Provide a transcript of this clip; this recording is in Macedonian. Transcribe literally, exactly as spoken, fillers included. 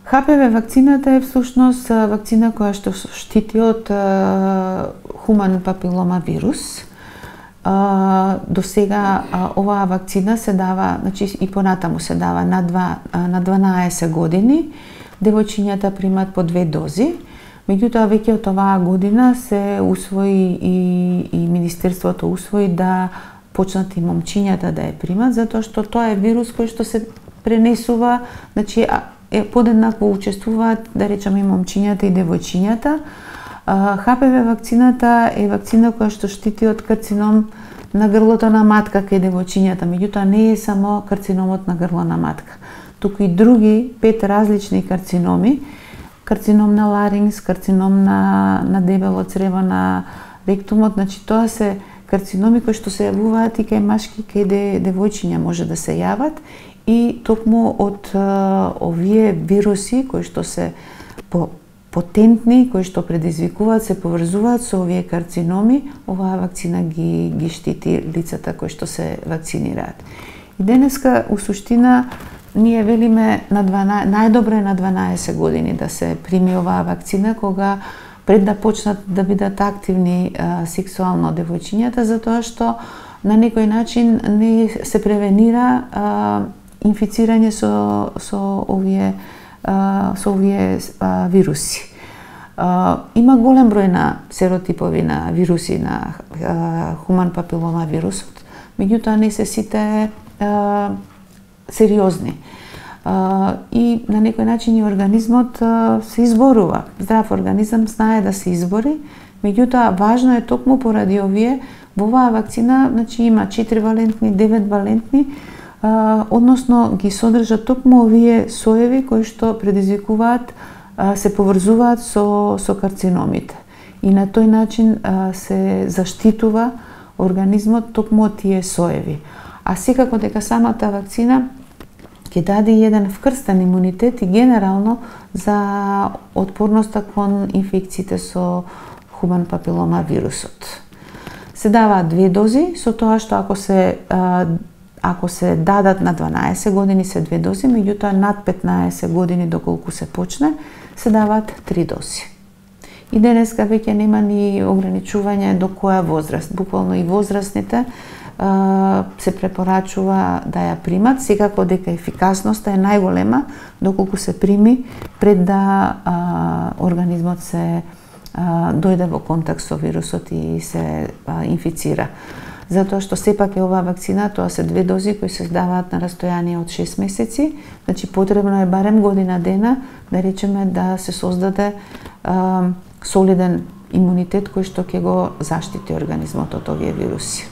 Х П В вакцината е всушност вакцина која што штити од хуман папилома вирус. До сега оваа вакцина се дава, значи и понатаму се дава на два на дванаесет години. Девојчињата примат по две дози. Меѓутоа веќе од оваа година се усвои и, и Министерството усвои да почнат и момчињата да ја примат, затоа што тоа е вирус кој што се пренесува, значи е подеднакво учествуваат, да речеме, и момчињата и девојчињата. Х П В вакцината е вакцина која што штити од карцином на грлото на матка кај девојчињата, меѓутоа не е само карциномот на грло на матка, туку и други пет различни карциноми, карцином на ларингс, карцином на, на дебело црево, на ректумот, значи тоа се карциноми кои што се јавуваат и кај машки, кај девојчиња може да се јават, и токму од овие вируси кои што се по потентни, кои што предизвикуваат, се поврзуваат со овие карциноми, оваа вакцина ги, ги штити лицата кои што се вакцинираат. И денеска, у суштина, ние велиме на дванаесет, најдобро е на дванаесет години да се прими оваа вакцина, кога пред да почнат да бидат активни а, сексуално девојчињата, затоа што на некој начин не се превенира а, инфицирање со, со овие со овие а, вируси. А, има голем број на серотипови на вируси на а, хуман папилома вирусот, меѓутоа не се сите а, сериозни. А, и на некој начин и организмот а, се изборува. Здрав организам знае да се избори, меѓутоа важно е токму поради овие, во оваа вакцина, значи има четири валентни, девет валентни, Uh, односно ги содржат токму овие соеви кои што предизвикуваат, uh, се поврзуваат со, со карциномите. И на тој начин uh, се заштитува организмот токму од тие соеви. А секако дека самата вакцина ќе даде еден вкрстен имунитет и генерално за отпорноста кон инфекциите со хуман папилома вирусот. Се даваат две дози, со тоа што ако се uh, Ако се дадат на дванаесет години се две дози, меѓутоа над петнаесет години доколку се почне, се даваат три дози. И денеска веќе нема ни ограничување до која возраст. Буквално и возрастните а, се препорачува да ја примат, секако дека ефикасноста е најголема доколку се прими пред да а, организмот се а, дојде во контакт со вирусот и се а, инфицира. Затоа што сепак е оваа вакцина, тоа се две дози кои се даваат на растојание од шест месеци, значи потребно е барем година дена, да речеме, да се создаде а, солиден имунитет кој што ќе го заштити организмот од овие вируси.